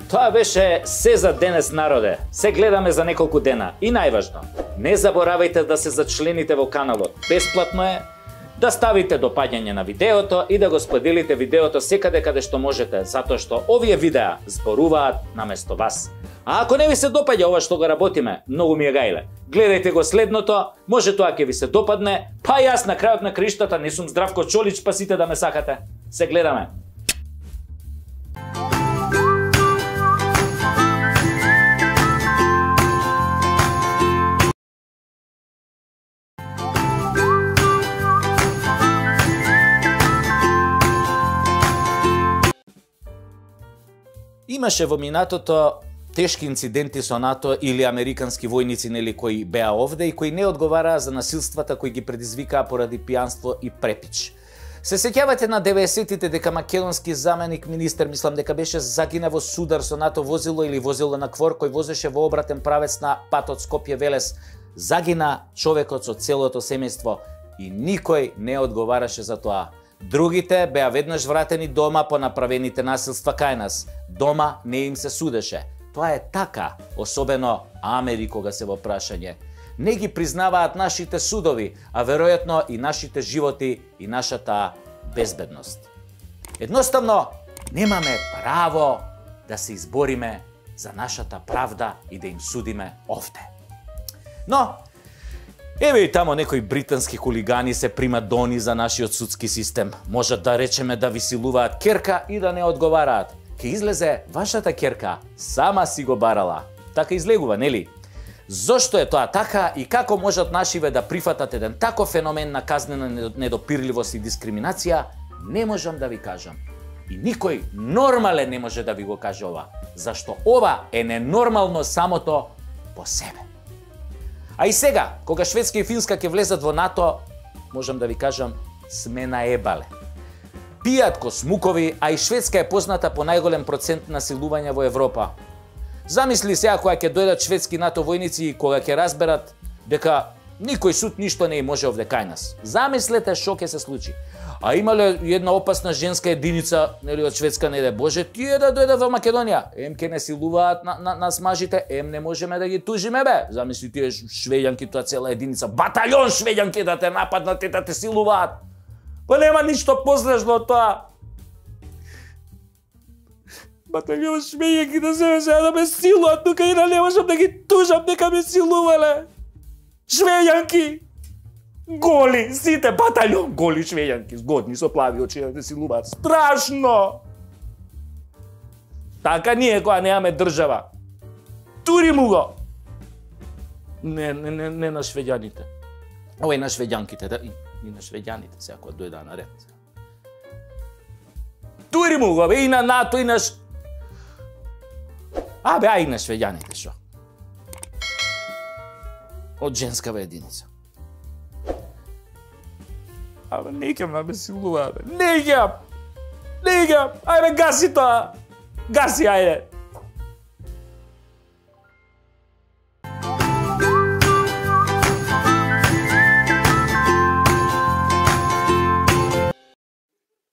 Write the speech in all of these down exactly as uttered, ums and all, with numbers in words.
Тоа беше се за денес, народе. Се гледаме за неколку дена. И најважно, не заборавајте да се зачлените во каналот. Бесплатно е, да ставите допаѓање на видеото и да го споделите видеото секаде каде што можете, затоа што овие видеа зборуваат наместо вас. А ако не ви се допаѓа ова што го работиме, многу ми е гајле. Гледајте го следното, може тоа ќе ви се допадне, па јас на крајот на криштата не сум Здравко Чолич, па сите да ме сакате. Се гледаме. Имаше во минатото тешки инциденти со НАТО или американски војници, нели, кои беа овде и кои не одговараа за насилствата кои ги предизвикаа поради пијанство и препич. Се сеќавате на деветдесетите дека македонски заменик министер, мислам дека беше, загина во судар со НАТО возило или возило на квор кој возеше во обратен правец на патот Скопје-Велес. Загина човекот со целото семејство и никој не одговараше за тоа. Другите беа веднаш вратени дома по направените насилства кај нас. Дома не им се судеше. Тоа е така, особено Амери кога се во прашање. Не ги признаваат нашите судови, а веројатно и нашите животи и нашата безбедност. Едноставно, немаме право да се избориме за нашата правда и да им судиме овде. Но, еве и тамо некои британски хулигани се примадони за нашиот судски систем. Можат да речеме да ви силуваат керка и да не одговараат. Ке излезе вашата керка, сама си го барала. Така излегува, нели? Зошто е тоа така и како можат нашиве да прифатат еден таков феномен на казнена недопирливост и дискриминација, не можам да ви кажам. И никој нормален не може да ви го каже ова, зашто ова е ненормално самото по себе. А и сега, кога Шведска и Финска ќе влезат во НАТО, можам да ви кажам, сме наебале. Пијат ко смукови, а и Шведска е позната по најголем процент насилување во Европа. Замисли сега кога ќе дојдат шведски НАТО војници и кога ќе разберат дека никој суд ништо не може овде кај нас. Замислете што ќе се случи. А имале една опасна женска единица, нели, од Шведска, не де Боже, тие да дојдат во Македонија. Ем ќе не силуваат на, на, нас мажите, ем не можеме да ги тужиме, бе. Замисли тие швеѓанки, тоа цела единица, батальон швеѓанки да те нападнат и да те силуваат. Па нема ништо пострашно од тоа. Батальон швеѓанки да се сега да ме силуваат, тука и да не можам да ги тужам дека ме силувале. Швеѓанки! Голи, сите батальон голи швеѓанки, згодни со плави очи да силуваат. Страшно! Така ние кога немаме држава. Тури му го! Не, не, не, не на швеѓаните. Овој на швеѓанките, да, и, и на швеѓаните сега кога дојдаа на ред. Тури му го, бе, и на НАТО, и на... А, бе, а и на швеѓаните, шо? Од женскава единица. Абе, не икам да ме силува, бе. Не икам! Не икам! Ајде, гаси тоа! Гаси, ајде!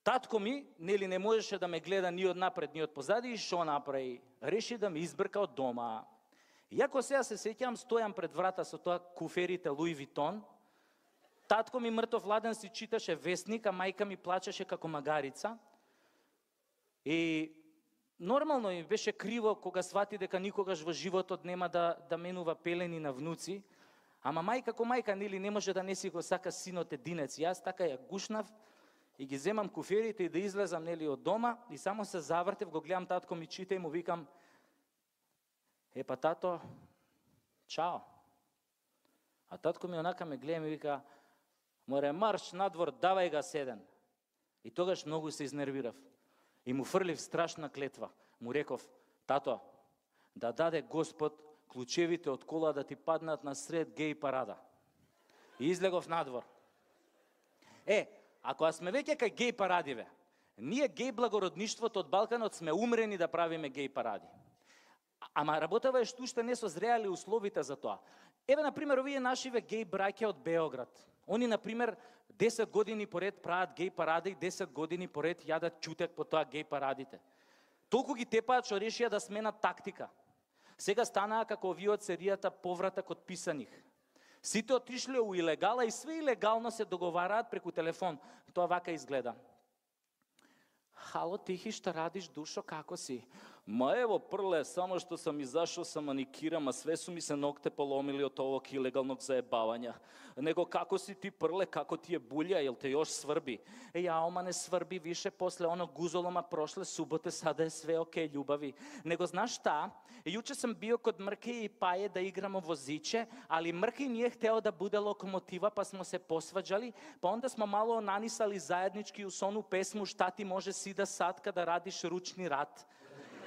Татко ми, нели, не можеше да ме гледа ни од напред, ни од позади, и шо направи? Реши да ме избрка од дома. Иако сега се сеќам, стојам пред врата со тоа куферите Луи Витон, татко ми мртов ладен си читаше вестник, а мајка ми плачеше како магарица. И нормално ми беше криво кога свати дека никогаш во животот нема да, да менува пелени на внуци, ама мајка како мајка, нели, не може да не си го сака синот единец. Јас така ја гушнав и ги земам куферите и да излезам, нели, од дома, и само се завртев, го гледам татко ми чита и му викам: "Епа тато, чао." А татко ми онака ме гледа и ми вика: "Море, марш надвор, давај га седен." И тогаш многу се изнервирав. И му фрлив страшна клетва. Му реков: "Тато, да даде Господ клучевите од кола да ти паднат на сред геј парада. И излегов надвор. Е, ако сме веќе кај геј парадиве, ние геј благородништвото од Балканот сме умрени да правиме геј паради. Ама работава е што уште не созреали условите за тоа. Еве, например, овие нашиве геј браќа од Београд. Они, например, десет години поред прават геј паради и десет години поред јадат чутек по тоа геј парадите. Толку ги тепаат што решија да сменат тактика. Сега станаа како овие од серијата Повратак од писаних. Сите отишле у илегала и све илегално се договараат преку телефон. Тоа вака изгледа. Хало, тихи, што радиш, душо, како си? Ма ево, прле, само што сам изашол са маникирам, а све су ми се ногте поломили од овог илегалnog заебавања. Него како си ти, прле, како ти е булја, јел те још сврби? Е, ја, ома не сврби више, после оно гузолома прошле суботе, сада е све окей, љубави. Него знаеш шта? Јуче сам био код Мрке и Паје да играмо возиче, али Мрке не е хтео да буде локомотива, па смо се посваđали, па онда смо мало нанисали заеднички у сону песму «Шта ти може си да садка да радиш ручни рад».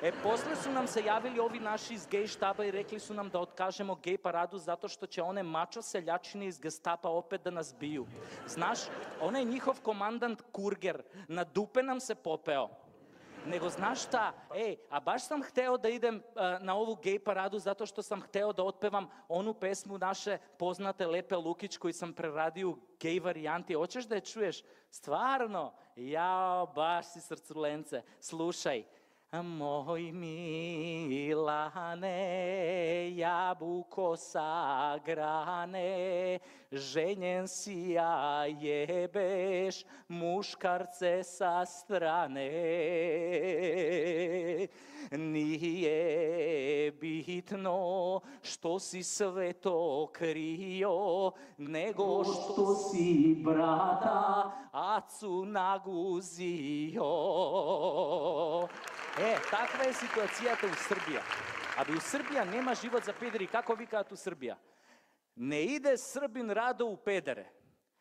Е, после су нам се јавили ови наши из геј штаба и рекли су нам да откажемо геј параду затоа што ќе оне мачо селјачини из гестапа опет да нас бију. Знаш, оне njihov командант Кургер надупе нам се попео. Него знаеш шта, е, а баш сам хтео да идем а, на ову геј параду затоа што сам хтео да отпевам ону песму наше познате Лепе Лукич кој сам прерадио геј варијанти. Очеш да ја чуеш? Стварно? Јао, баш си срцуленце. Слушај. Мој Милане, јабуко сагране, женен си ја јебеш, мушкарце са стране. Nije bitno što si sve to krio, nego što si brata acu naguzio. Е, таква е ситуацијата у Србија. Абе, у Србија нема живот за педери, како викаат у Србија? Не иде србин радо у педере.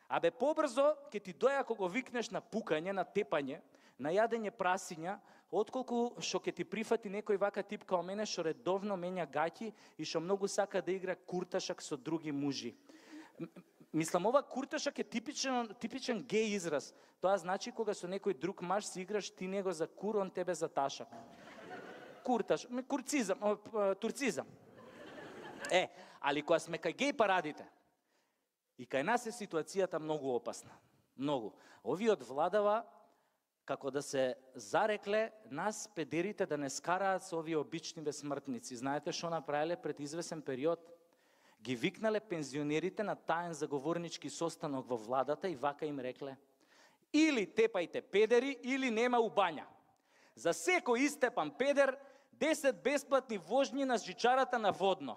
Абе, побрзо ќе ти доја кога викнеш на пукање, на тепање, на јадење прасиња, отколку што ќе ти прифати некој вака тип као мене што редовно менја гаќи и што многу сака да игра курташак со други мужи. Мислам, ова курташак е типичен, типичен геј израз. Тоа значи кога со некој друг маж си играш, ти него за кур, он тебе за ташак. Курташ, курцизам, турцизам. Е, али кога сме кај геј парадите, и кај нас е ситуацијата многу опасна. Многу. Овие од владава како да се зарекле нас педерите да не скараат со овие обичниве смртници. Знаете што направиле пред извесен период? Ги викнале пензионерите на таен заговорнички состанок во владата и вака им рекле: или тепајте педери, или нема у бања. За секој истепан педер, десет бесплатни вожњи на жичарата на Водно.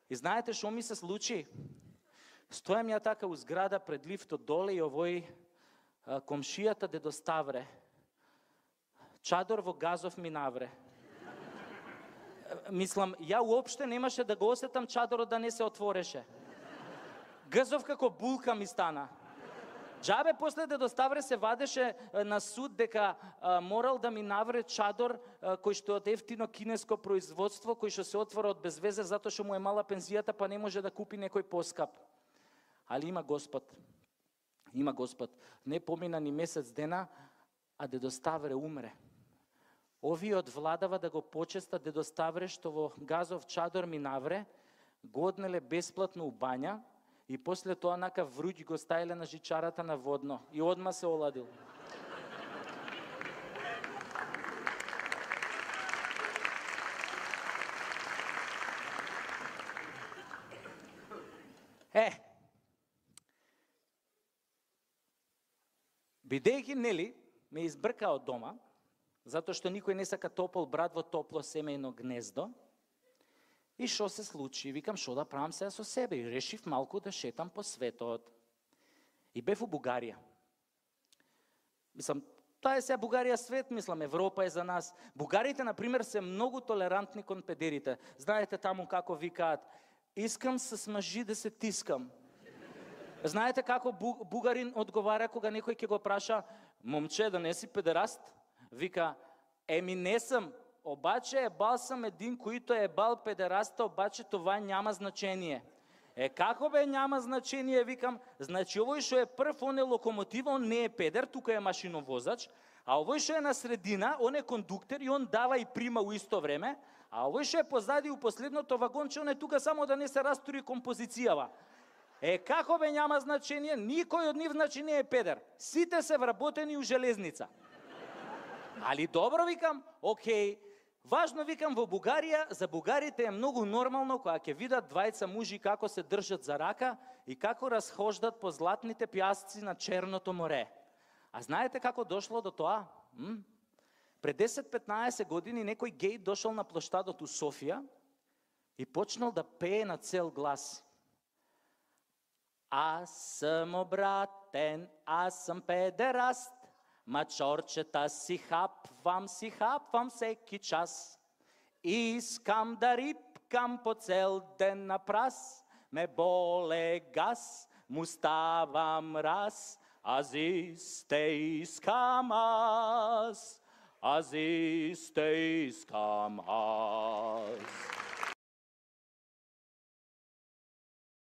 И знаете што ми се случи? Стојам ја така у зграда пред лифтот доле и овој а, комшијата дедо Ставре, чадор во газов ми навре. Мислам, ја уопште немаше да го осетам чадорот да не се отвореше. Гзов како булка ми стана. Джабе после дедо Ставре се вадеше на суд дека а, морал да ми навре чадор а, кој што е од ефтино кинеско производство, кој што се отвора од безвезе затоа што му е мала пензијата па не може да купи некој поскап. Али има Господ. Има Господ. Не помина ни месец дена, а дедо Ставре умре. Овие од владава да го почеста дедо Ставре што во газов чадор ми навре, го однеле бесплатно у бања и после тоа нака вруќ го ставиле на жичарата на Водно и одма се оладил. Е, бидејќи, нели, ме избрка од дома, затоа што никој не сака топол брат во топло семејно гнездо. И што се случи? Викам, што да правам сега со себе? И решив малку да шетам по светот. И бев у Бугарија. Мислам, тоа е сега Бугарија свет, мислам, Европа е за нас. Бугарите, например, се многу толерантни кон педерите. Знаете таму како викаат: искам с мъжи да се тискам. Знаете како бугарин одговара кога некој ќе го праша: момче, да не си педераст? Вика: еми не сам, обаче е бал сам един, којто е бал педераста, обаче това няма значение. Е, како бе няма значение, викам, значи овој што е прв, он е локомотив, он не е педер, тука е машиновозач, а овој што е на средина, он е кондуктер и он дава и прима у исто време, а овој што е позади у последното вагонче, он е тука само да не се растури композицијава. Е, како бе няма значение, никој од нив значи не е педер. Сите се вработени у железница. Али добро, викам, окей. Важно, викам, во Бугарија, за бугарите е многу нормално кога ќе видат двајца мужи како се држат за рака и како расхождат по златните пјасци на Черното море. А знаете како дошло до тоа? М? Пред десет-петнаесет години некој геј дошол на плоштадот у Софија и почнал да пее на цел глас. Аз сам обратен, аз сам педераст, мачорчета си хапвам, си хапвам всеки час. Искам да рипкам по цел ден на прас, ме боле газ, му ставам раз, аз исте искам аз, аз исте искам аз.